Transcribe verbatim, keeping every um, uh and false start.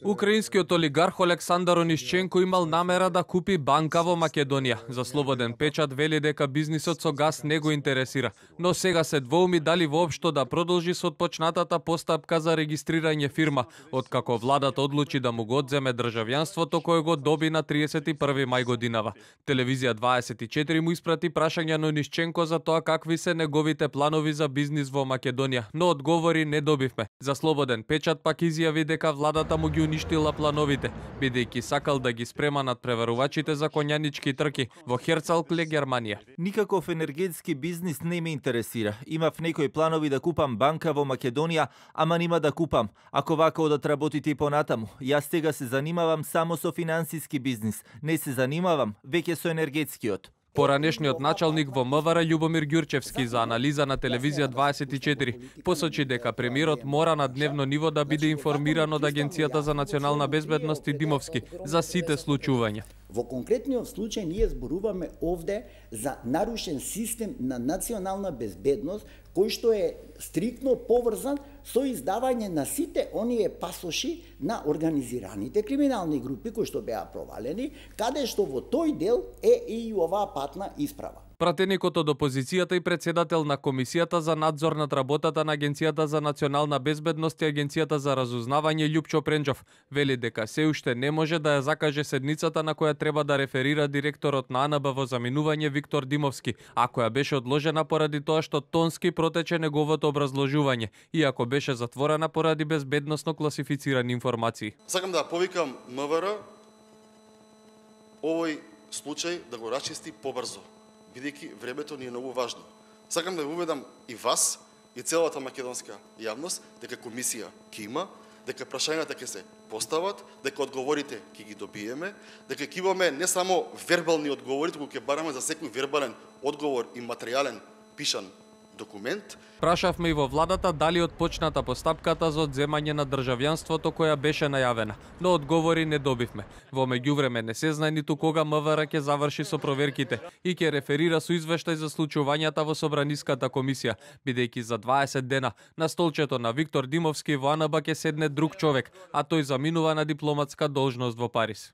Украинскиот олигарх Олександар Онишченко имал намера да купи банка во Македонија. За Слободен печат вели дека бизнисот со газ не го интересира, но сега се двоуми дали воопшто да продолжи со отпочнатата постапка за регистрирање фирма, откако владата одлучи да му го одземе државјанството кое го доби на триесет и први мај годинава. Телевизија дваесет и четири му испрати прашање на Онишченко за тоа какви се неговите планови за бизнис во Македонија, но одговори не добивме. За Слободен печат пак изјави дека владата му ги уништила плановите, бидејќи сакал да ги спрема над преварувачите за конјанички трки во Херцалкле, Германија. Никаков енергетски бизнис не ме интересира. Имав некои планови да купам банка во Македонија, ама нима да купам. Ако вака одат работите и понатаму, јас сега се занимавам само со финансиски бизнис. Не се занимавам веќе со енергетскиот. Поранешниот началник во МВР Љубомир Ѓурчевски за анализа на телевизија дваесет и четири посочи дека премиерот мора на дневно ниво да биде информиран од Агенцијата за национална безбедност и Димовски за сите случувања. Во конкретниот случај ние зборуваме овде за нарушен систем на национална безбедност кој што е стриктно поврзан со издавање на сите оние пасоши на организираните криминални групи кои што беа провалени, каде што во тој дел е и оваа патна исправа. Пратеникот од опозицијата и председател на Комисијата за надзор над работата на Агенцијата за национална безбедност и Агенцијата за разузнавање Љупчо Пренџов вели дека се уште не може да ја закаже седницата на која треба да реферира директорот на А Н Б во заминување Виктор Димовски, а која беше одложена поради тоа што тонски протече неговото образложување, иако беше затворена поради безбедносно класифицирани информации. Сакам да повикам МВР овој случај да го расчисти побрзо, бидејќи времето ни е многу важно. Сакам да ви уведам и вас, и целата македонска јавност, дека комисија ќе има, дека прашањата ќе се постават, дека одговорите ќе ги добиеме, дека ќе имаме не само вербални одговори, туку ќе бараме за секој вербален одговор и материјален пишан документ. Прашавме и во владата дали отпочната постапката за одземање на државјанството која беше најавена, но одговори не добивме. Во меѓувреме не се знае ниту кога МВР ќе заврши со проверките и ќе реферира со извештај за случувањата во Собраниската комисија, бидејќи за дваесет дена на столчето на Виктор Димовски во А Н Б ќе седне друг човек, а тој заминува на дипломатска должност во Париз.